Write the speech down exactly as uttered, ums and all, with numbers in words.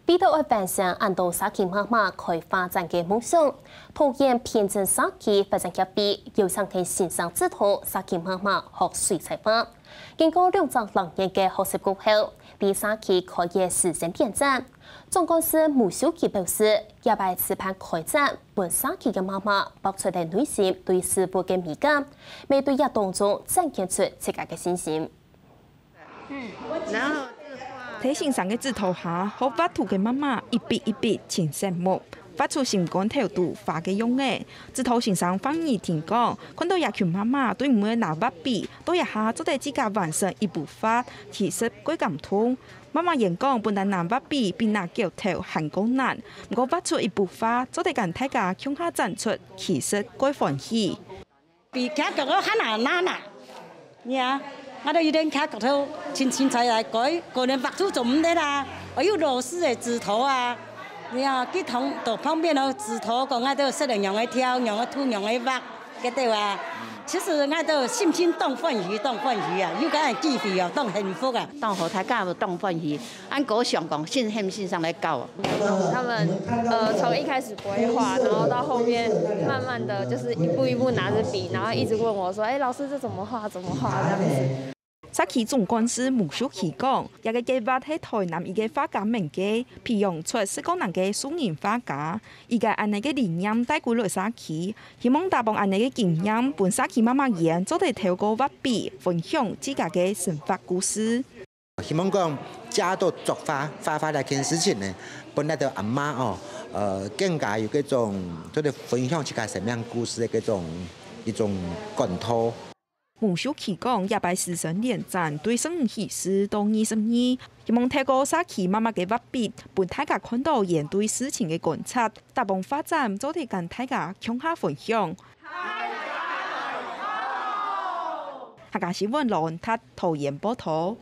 為著愛完成恁多社區媽媽開畫展个夢想，桃園平鎮社區發展協會邀請个先生指導社區媽媽學水彩畫。經過兩隻零年个學習過後，在社區開个師生聯展。總幹事吳秀琪表示，這擺主辦開展，分社區个媽媽畫出來內心對事物个美感，乜對這當中展現出自家个信心。 然後，在先生个指導下，學畫圖个媽媽一筆一筆盡醒目，畫出心肝頭肚花个樣仔。指導先生范怡婷講，看著這群媽媽對毋會拿畫筆，到這下做得自家完成一幅畫，其實蓋感動。媽媽演講本來拿畫筆比拿鉸頭還過難，毋過畫出一幅畫，做得跟大家共下展出，其實蓋歡喜。 比徛角落較難拿啦。你啊，𠊎兜有兜徛角落，清清彩彩改，可能畫圖做毋得啦。愛有老師个指導啊。你啊，去同，到旁邊哦，指導講𠊎兜識得仰仔挑，仰仔塗，仰仔畫，該兜啊。其實𠊎兜心情當歡喜，當歡喜啊，有恁个機會哦，當幸福啊。當好，大家都當歡喜。 恁高興講，先生先生來教。他們呃從一開始不會畫，然後到後面慢慢的就是一步一步拿著筆，然後一直問我說：「哎，老師，這怎麼畫？怎麼畫？」這樣子。社區總幹事吳秀琪講，這个計畫係台南一个畫家們个，培養出四個人个素人畫家。佢个恁呢个理念帶歸來社區，希望打幫恁呢个經驗，分社區媽媽園做得透過畫筆分享自家个生活故事。 希望講借到作畫、畫畫這件事情呢，分𠊎兜阿媽哦，呃，更加有該種做得分享自家生命故事个該種一種管道。吳秀琪講，這擺師生聯展對十五起始到二十二，希望透過社區媽媽个畫筆，分大家看著佢對事情个觀察，打幫畫展做得跟大家共下分享。客家新聞羅文達桃園報導。